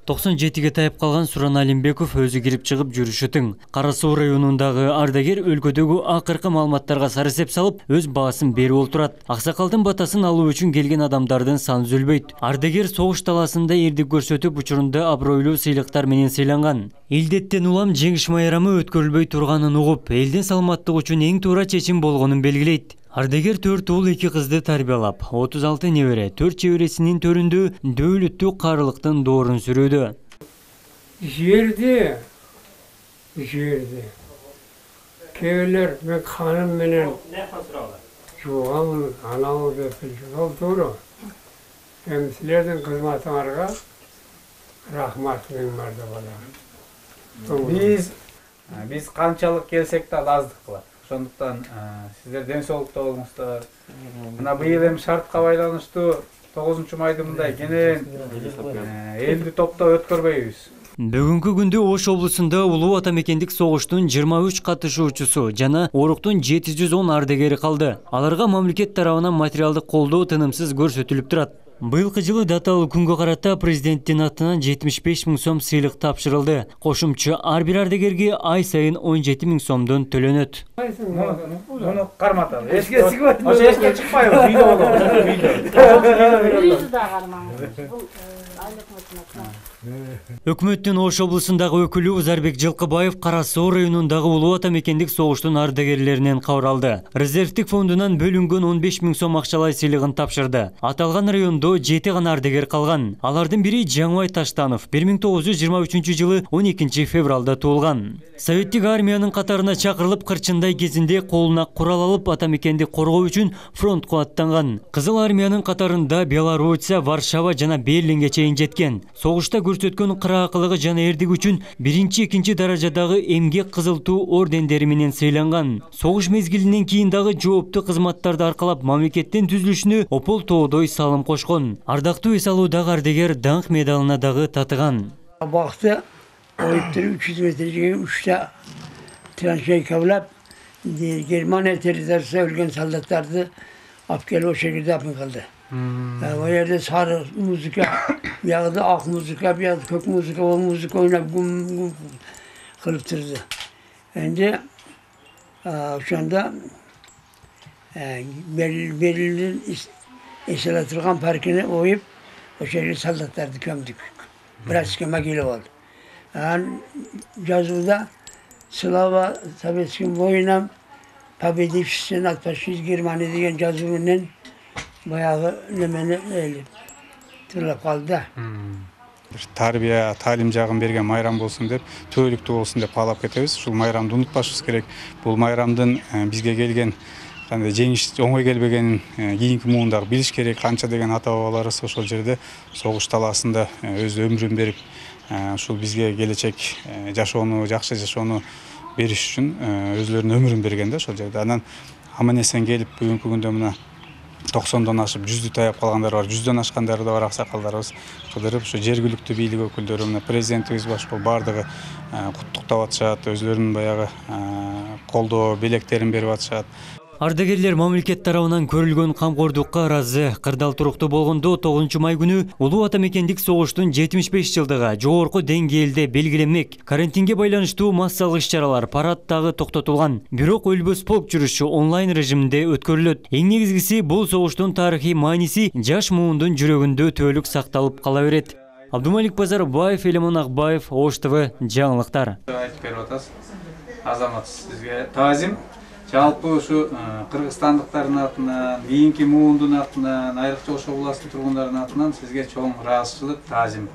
97 тайып калган Суран Алимбеков өзү кирип чыгып жүрүшү тең. Кара Суу районундагы ардагер өлкөдөгү акыркы маалыматтарга сарысеп салып, өз баасын берип олтурат. Аксакалдын батасын алуу үчүн келген адамдардын саны үзүлбөйт. Ардагер согуш талаасында эрдик көрсөтүп, учурунда абройлуу сыйлыктар менен сыйланган. Илдеттен улам жеңиш майрамы өткөрүлбөй турганын угуп, элдин саламаттыгы үчүн эң туура чечим болгонун белгилейт. Ардагер 4 уул 2 кызды тарбиялап, 36 небере, 4 чебересинин төрүндө дөөлүттүү карылыктын доорун сүрүүдө. Жерди. Кебелер мен ханым менен жуугам, анау деп жол туура. Эми силердин кызматыңарга рахмат миң марда бала. Биз канчалык келсек да аздык кылат. Ошондуктан сиздер ден соолукта болуңуздар. Мына быйыл эми шартка байланыштуу 9-майда мындай кенен элди топтоп өткөрбөйбүз. Бүгүнкү күндө Ош облусунда улуу атамекендик согуштун 23 катышуучусу жана оруктун 710 ардагери калды. Аларга мамлекет тарабынан материалдык колдоо тынымсыз көрсөтүлүп турат. Быйылкы жылы даталуу күнгө карата президенттин атынан 75 000 сом сыйлык тапшырылды. Кошумча ар бир ардагерге ай сайын 17 000 сомдон төлөнөт. Муну карматалы. Эске чыкпайбы? Ошо эске чыкпайбы? Үйдө болобу. Өкмөттүн Ош облусундагы өкүлү Узарбек Жылкыбаев Кара Суу районундагы улуу атамекендик согуштун ардагерлеринен кабар алды. Резервдик фондунан бөлүнгөн 15 000 сом акчалай сыйлыгын тапшырды. Аталган райондо 7 гана ардагер калган. Алардын бири Жаңыбай Таштанов 1923 жылы 12 февралда туулган. Советтик армиянын катарына чакырылып, кырчындай кезинде колуна курал алып атамекенди коргоо үчүн фронтко аттанган. Кызыл армиянын катарында Белоруссия, Варшава жана Берлинге чейин жеткен. Согушта көрсөткөн кыраакылыгы жана эрдиги үчүн 1-2 даражадагы эмгек кызыл туу ордендери менен сыйланган. Согуш мезгилинен кийин дагы жооптуу кызматтарды аркалап мамлекеттин түзүлүшүнө опол тоодой салым кошкон. Ардактуу эс алуудагы ардагер даңк медалына дагы татыган. Бакты ойыптыр 300 метрге 3 траншей каблап, Германия территориясында өлгөн солдаттарды алып келип ошол жерде дапын кылды. O yerde sarı muzika, yağda ak muzika, bir yağda kök muzika, o muzika oynayıp gum kılıp durdu. Şimdi şu anda belirli eselatırgan parkını oyup o şekilde soldatlardı kömdük. Biraz kema gelip oldu. Yani yazıda Slava Sovetskiy voyinam Победившийся над фашист Германия деген жазуу менен баягы немени тырлап калды. Тарбия, талим жагын берген майрам болсун деп, төөлүктүү болсун деп каалап кетебиз. Ушул майрамды унутпашыбыз керек. Бул майрамдын бизге келген кандай жеңиш оңой келбегенин кийинки муундагы билиш керек. Канча деген ата бабаларыбыз ошол жерде согуш талаасында өз өмүрүн берип, ушул бизге келечек жашоону, жакшы жашоону бериш үчүн өзлөрүнүн өмүрүн берген да ошол жерде. Анан аман эсен келип бүгүнкү күндө мына 90дон ашып 100дү таяп калгандар бар, 100дөн ашкандары да бар, аксакалдарыбыз кыдырып, ушу жергиликтүү бийлик өкүлдөрү, мына президентибиз башка бардыгы куттуктап атышат, өзлөрүнүн баягы колдоо белектерин берип атышат. Ардагерлер мамлекет тарабынан көрүлгөн камкордукка ыраазы. Кырдаал туруктуу болгондо 9-май күнү улуу атамекендик согуштун 75 жылдыгы жогорку деңгээлде белгиленмек. Карантинге байланыштуу массалык иш-чаралар, парад дагы токтотулган. Бирок өлбөс полк жүрүшү онлайн режиминде өткөрүлөт. Эң негизгиси бул согуштун тарыхый мааниси жаш муундун жүрөгүндө төөлүк сакталып кала берет. Абдумалик Базарбаев, Элемон Акбаев, Ош ТВ жаңылыктар. Айтып берип атасыз. Азамат, сизге таазим. Жалпы ушу кыргызстандыктардын атынан, кийинки муундун атынан, айрыкча Ош областынын тургундарынын атынан сизге чоң ыраазычылык, таазим.